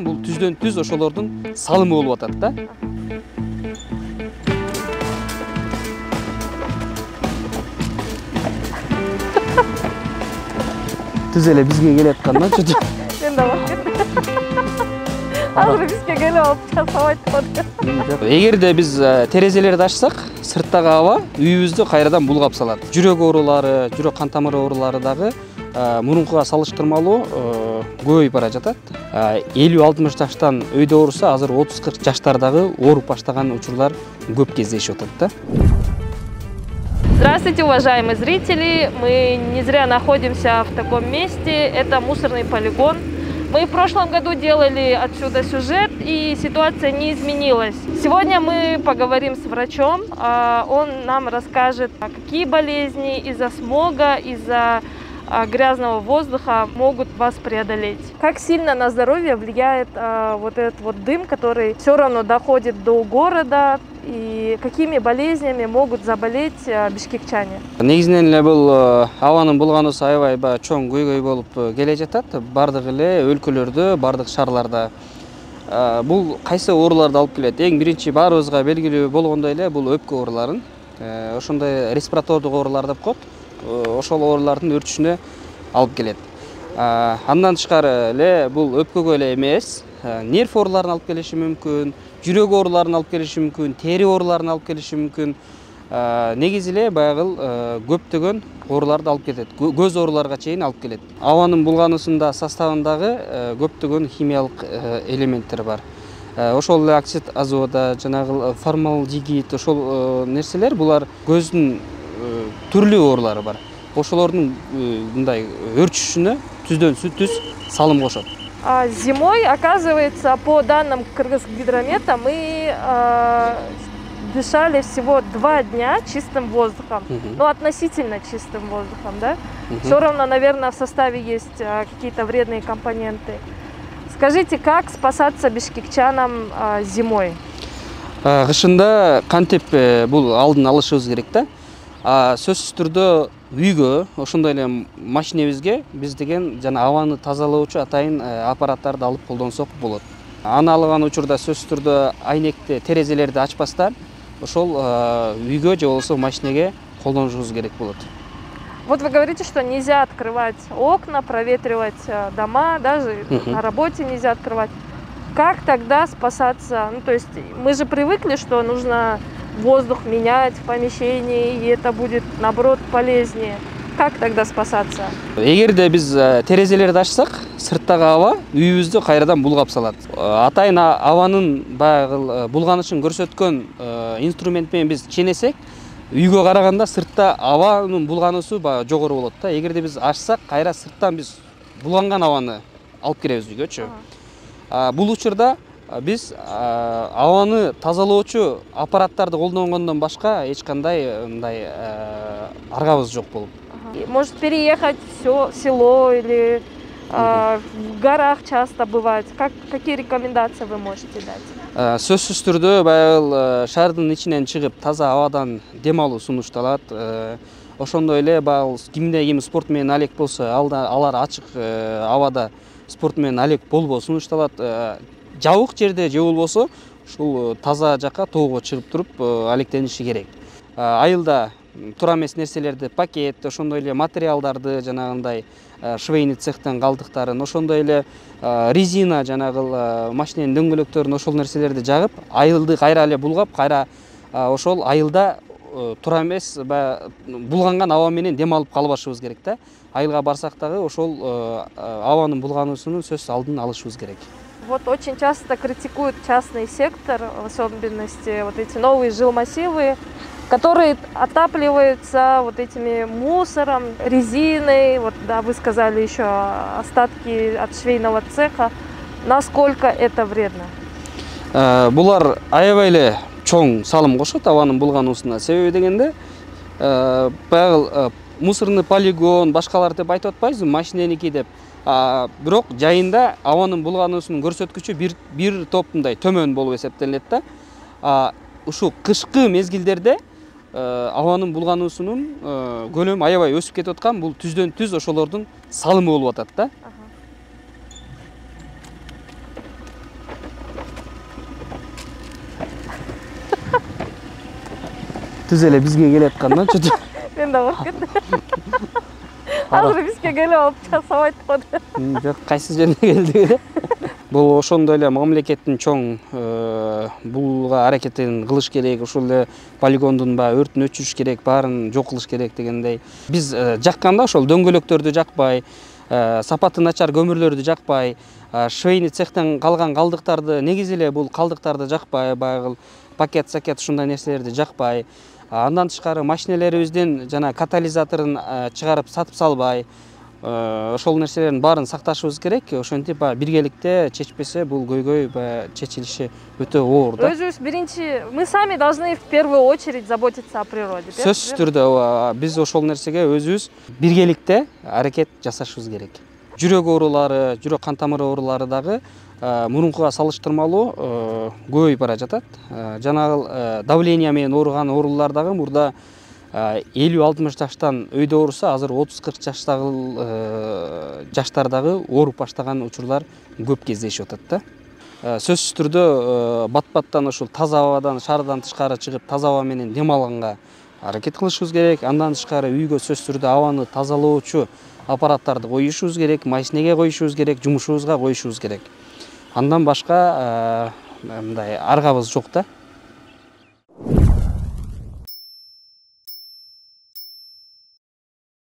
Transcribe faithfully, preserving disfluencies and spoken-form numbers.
Бул түздөн түз ошолордун салымы болуп атат да. Түз эле бизге келип атканда чөчө. Мен да бак. Азыр бизге келип алып жасабайт атат. Эгерде биз терезелерди ачсак, сырттагы аба үйүбүздү кайрадан булгап салат. Жүрөк оорулары, жүрөк кан тамыр оорулары дагы мурункуга салыштырмалуу көбөйүп бара жатат. элүү алтымыш жаштан өйдө ооруса, азыр отуз кырк жаштардагы ооруп баштаган учурлар көп кездешип атат да. Здравствуйте, уважаемые зрители! Мы не зря находимся в таком месте. Это мусорный полигон. Мы в прошлом году делали отсюда сюжет, и ситуация не изменилась. Сегодня мы поговорим с врачом. Он нам расскажет, какие болезни из-за смога, из-за грязного воздуха могут вас преодолеть. Как сильно на здоровье влияет а, вот этот вот дым, который все равно доходит до города, и какими болезнями могут заболеть а, бишкекчане? Негизинен эле бул абанын булгануусу аябай чоң көйгөй болуп келе жатат. Бардык эле өлкөлөрдө, бардык шаарларда. Бул кайсы ооруларды алып келет? Эң биринчи баарыбызга белгилүү болгондой эле бул өпкө ооруларын, ошондой респиратордук оорулар деп коет. Ошол оорулардын өрчүшүнө алып келет. Андан тышкары эле бул өпкөгө эле эмес, нерв ооруларын алып келиши мүмкүн, жүрөк ооруларын алып келиши мүмкүн, тери ооруларын алып келиши мүмкүн. Негизи эле баягы көптөгөн ооруларды алып кетет. Көз ооруларга чейин алып келет. Абанын булгануусунда составындагы көптөгөн химиялык элементтер бар. Ошол эле оксид азота, жанагы формалдегид, ошол нерселер булар көздүн түрлүү оорулары бар. Ошолордун мындай өрчүшүнө түздөн түз салым кошот. Зимой, оказывается, по данным Кыргызгидромета, мы э, дышали всего два дня чистым воздухом. Uh-huh. Ну, относительно чистым воздухом, да? Uh-huh. Все равно, наверное, в составе есть э, какие-то вредные компоненты. Скажите, как спасаться бишкекчанам э, зимой? Кышында кантип бул алдын алышыбыз керек да. Сөзсүз түрдө үйгө, ошондой эле машинебизге биз деген жана абаны тазалоочу атайын аппараттарды алып колдонсок болот. Аны алган учурда сөзсүз түрдө айнекти, терезелерди ачпастан ошол үйгө же болбосо машинеге колдонушубуз керек болот. Вот вы говорите, что нельзя открывать окна, проветривать дома, даже uh-huh. на работе нельзя открывать. Как тогда спасаться? Ну, то есть мы же привыкли, что нужно воздух менять в помещении, и это будет, наоборот, полезнее. Как тогда спасаться? Эгерде биз терезелерди ачсак, сырттагы аба үйүбүздү кайрадан булгап салат. Атайын абанын баягы булганышын көрсөткөн инструмент менен биз ченесек, үйгө караганда сыртта абанын булгануусу жогору болот да. Эгерде биз ачсак, кайра сырттан биз булганган абаны алып киребиз үйгөчү. Бул учурда биз абаны тазалоочу аппараттарды колдонгондон башка эч кандай мындай аргабыз жок болуп. Может переехать в село или в горах часто бывает. Как, какие рекомендации вы можете дать? Сөзсүз түрдө баягы шаардын ичинен чыгып таза абадан дем алуу сунушталат. Ошондой эле баягы кимде ким спорт менен алек болсо, алар ачык абада спорт менен алек болбоо сунушталат. Жабык жерде же болбосо ушул таза жакка тоого чыгып туруп алектениши керек. Айылда туура эмес нерселерди, пакет, ошондой эле материалдарды, жанагындай швейный цехтен калдыктарын, ошондой эле резина, жанагы машиненин дөңгөлөктөрүн, ошол нерселерди жагып, айылды кайра эле булгап, кайра ошол айылда туура эмес булганган аба менен дем алып калбашыбыз керек да. Айылга барсак дагы ошол абанын булгануусунун сөзсүз алдын алышыбыз керек. Вот очень часто критикуют частный сектор, в особенности вот эти новые жилмассивы, которые отапливаются вот этими мусором, резиной, вот да, вы сказали еще остатки от швейного цеха. Насколько это вредно? Булар аябай эле чоң салым кошот абанын булгануусуна. Себеби дегенде баягы мусорный полигон, башкалар деп айтып атпайбызбы, машиненики деп. Бирок жайында абанын булгануусунун көрсөткүчү бир бир топ мындай төмөн болуп эсептелет да. Ушул кышкы мезгилдерде абанын булгануусунун көлөмү аябай өсүп кетип аткан, бул түздөн түз ошолордун салымы болуп атат да. түз эле бизге келаткандан чөтү. Мен да коркуп кеттим. Азыр бизге келип алып жасабайт го деп. Жок, кайсы жерге келди? Бул ошондой эле мамлекеттин чоң булга аракетин кылыш керек, ошол эле полигондун баягы өртүн өчүрүш керек, баарын жок кылыш керек дегендей. Биз жакканда ошол дөңгөлөктөрдү жакпай, сапаты начар көмүрлөрдү жакпай, швейный цехтен калган калдыктарды, негизи эле бул калдыктарды жакпай, баягы пакет, сакет ушундай нерселерди жакпай, андан тышкары машинелерибиздин жана катализаторун чыгарып сатып салбай, ошол нерселердин баарын сакташыбыз керек. Ошентип биргеликте чечпесе бул көйгөй чечилиши өтө оор да. Өзүбүз биринчи, мы сами должны в первую очередь заботиться о природе. Сөзсүз түрдө биз ошол нерсеге өзүбүз биргеликте аракет жасашыбыз керек. Жүрөк оорулары, жүрөк кан тамыры оорулары дагы мурункуга салыштырмалуу көбөйүп бара жатат. Жанагы давление менен ооруган оорулар дагы мурда элүү алтымыш жаштан өйдө ооруса, азыр отуз кырк жаштагы жаштар дагы ооруп баштаган учурлар көп кездешип атат да. Сөзсүз түрдө бат-баттан ушул таза абадан, шаардан тышкары чыгып, таза аба менен дем алганга аракет кылышыбыз керек. Андан тышкары үйгө сөзсүз түрдө абаны тазалоочу аппараттарды коюшубуз керек, машинеге коюшубуз керек, жумушубузга коюшубуз керек. Андан башка мындай аргабыз жок да.